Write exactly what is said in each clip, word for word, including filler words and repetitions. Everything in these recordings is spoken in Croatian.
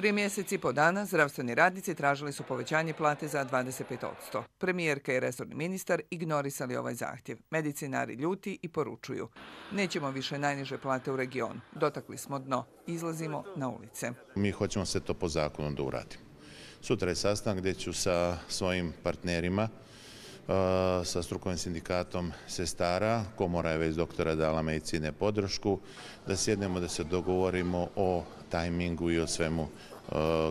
Prije mjeseci i po dana zdravstveni radnici tražili su povećanje plate za dvadeset pet posto. Premijerka i resorni ministar ignorisali ovaj zahtjev. Medicinari ljuti i poručuju: nećemo više najniže plate u regionu. Dotakli smo dno. Izlazimo na ulice. Mi hoćemo se to po zakonu da uradimo. Sutra je sastanak gdje ću sa svojim partnerima, sa strukovnim sindikatom sestara, komora je već doktora dala medicine podršku, da sjednemo da se dogovorimo o tajmingu i o svemu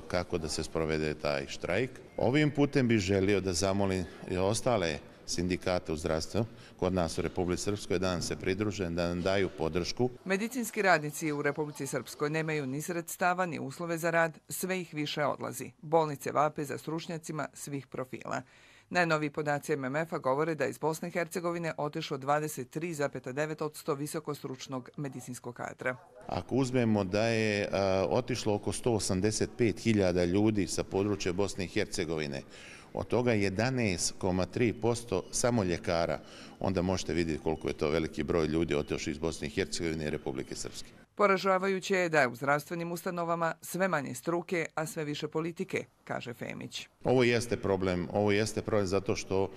kako da se sprovede taj štrajk. Ovim putem bih želio da zamolim i ostale sindikate u zdravstvu kod nas u Republici Srpskoj da nam se pridruže, da nam daju podršku. Medicinski radnici u Republici Srpskoj nemaju ni sredstava ni uslove za rad, sve ih više odlazi. Bolnice vape za stručnjacima svih profila. Najnoviji podaci M M F-a govore da iz Bosne i Hercegovine otišlo dvadeset tri zarez devet posto visokostručnog medicinskog kadra. Ako uzmemo da je a, otišlo oko sto osamdeset pet hiljada ljudi sa područja Bosne i Hercegovine, od toga jedanaest zarez tri posto samo ljekara, onda možete vidjeti koliko je to veliki broj ljudi otišli iz Bosne i Hercegovine i Republike Srpske. Poražavajuće je da je u zdravstvenim ustanovama sve manje struke, a sve više politike, kaže Femić. Ovo jeste problem, ovo jeste problem zato što uh,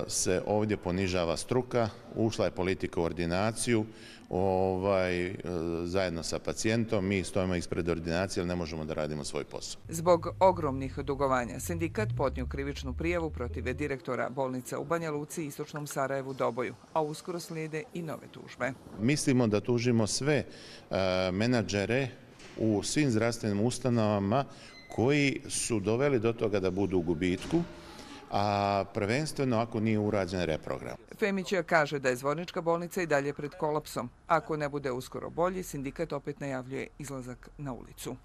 se ovdje ponižava struka, ušla je politika u ordinaciju, ovaj, uh, zajedno sa pacijentom, mi stojimo ispred ordinacije, ali ne možemo da radimo svoj posao. Zbog ogromnih dugovanja, sindikat podnio krivičnu prijavu protiv direktora bolnica u Banja Luci i istočnom Sarajevu Doboju, a uskoro slijede i nove tužbe. Mislimo da tužimo sve uh, menadžere u svim zdravstvenim ustanovama koji su doveli do toga da budu u gubitku, a prvenstveno ako nije urađen reprogram. Femić kaže da je Zvornička bolnica i dalje pred kolapsom. Ako ne bude uskoro bolji, sindikat opet najavljuje izlazak na ulicu.